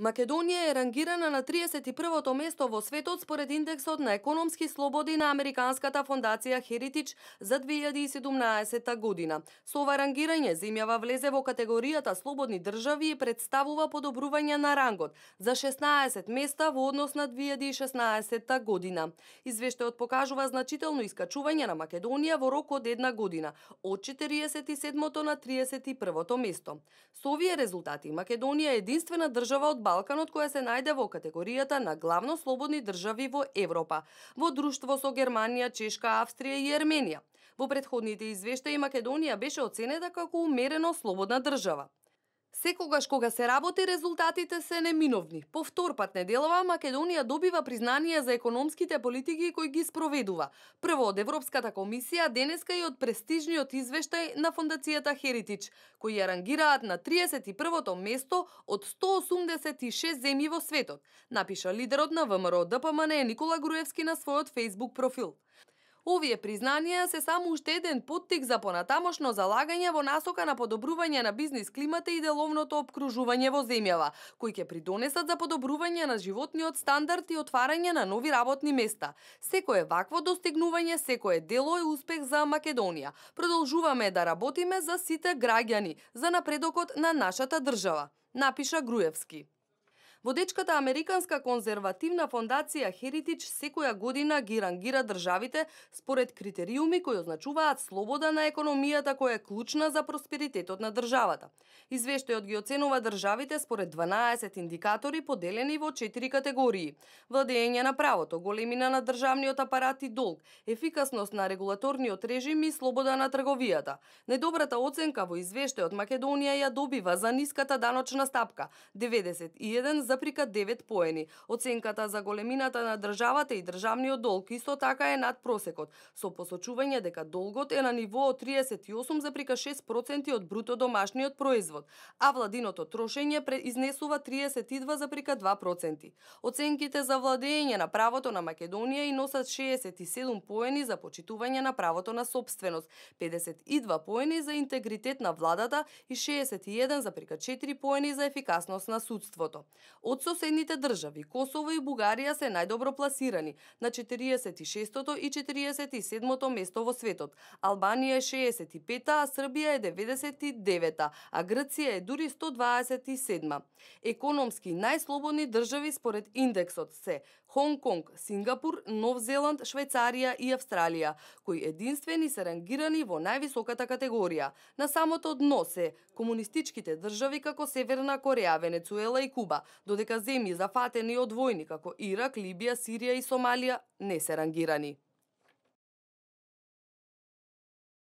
Македонија е рангирана на 31-то место во светот според индексот на економски слободи на Американската фондација Heritage за 2017 година. Со ова рангирање земјава влезе во категоријата слободни држави и представува подобрување на рангот за 16 места во однос на 2016 година. Извештајот покажува значително искачување на Македонија во рок од една година, од 47-то на 31-то место. Со овие резултати Македонија е единствена држава од Балканот која се најде во категоријата на главно слободни држави во Европа, во друштво со Германија, Чешка, Австрија и Ерменија. Во претходните извештаи Македонија беше оценета како умерено слободна држава. Секогаш кога се работи, резултатите се неминовни. По втор пат неделава Македонија добива признание за економските политики кои ги спроведува. Прво од Европската комисија, денеска и од престижниот извештај на фондацијата Heritage, кои ја рангираат на 31-то место од 186 земји во светот, напиша лидерот на ВМРО-ДПМН Никола Груевски на својот Facebook профил. Овие признанија се само уште еден поттик за понатамошно залагање во насока на подобрување на бизнис климата и деловното опкружување во земјава, кои ќе придонесат за подобрување на животниот стандард и отварање на нови работни места. Секое вакво достигнување, секое дело е успех за Македонија. Продолжуваме да работиме за сите граѓани, за напредокот на нашата држава, напиша Груевски. Водечката Американска конзервативна фондација Heritage секоја година ги рангира државите според критериуми кои означуваат слобода на економијата која е клучна за просперитетот на државата. Извештајот ги оценува државите според 12 индикатори поделени во 4 категории: владење на правото, големина на државниот апарат и долг, ефикасност на регулаторниот режим и слобода на трговијата. Најдобрата оценка во извештајот Македонија ја добива за ниската даночна стапка 91,9 поени. Оценката за големината на државата и државниот долг исто така е над просекот, со посочување дека долгот е на ниво од 38,6% од бруто домашниот производ, а владиното трошење изнесува 32,2%. Оценките за владење на правото на Македонија и носат 67 поени за почитување на правото на сопственост, 52 поени за интегритет на владата и 61,4 поени за ефикасност на судството. Од соседните држави, Косово и Бугарија се најдобро пласирани на 46-то и 47-то место во светот. Албанија е 65-та, а Србија е 99-та, а Грција е дури 127-ма. Економски најслободни држави според индексот се Хонг Конг, Сингапур, Нов Зеланд, Швајцарија и Австралија, кои единствени се рангирани во највисоката категорија. На самото дно се комунистичките држави како Северна Кореја, Венецуела и Куба, додека земји зафатени од војни како Ирак, Либија, Сирија и Сомалија не се рангирани.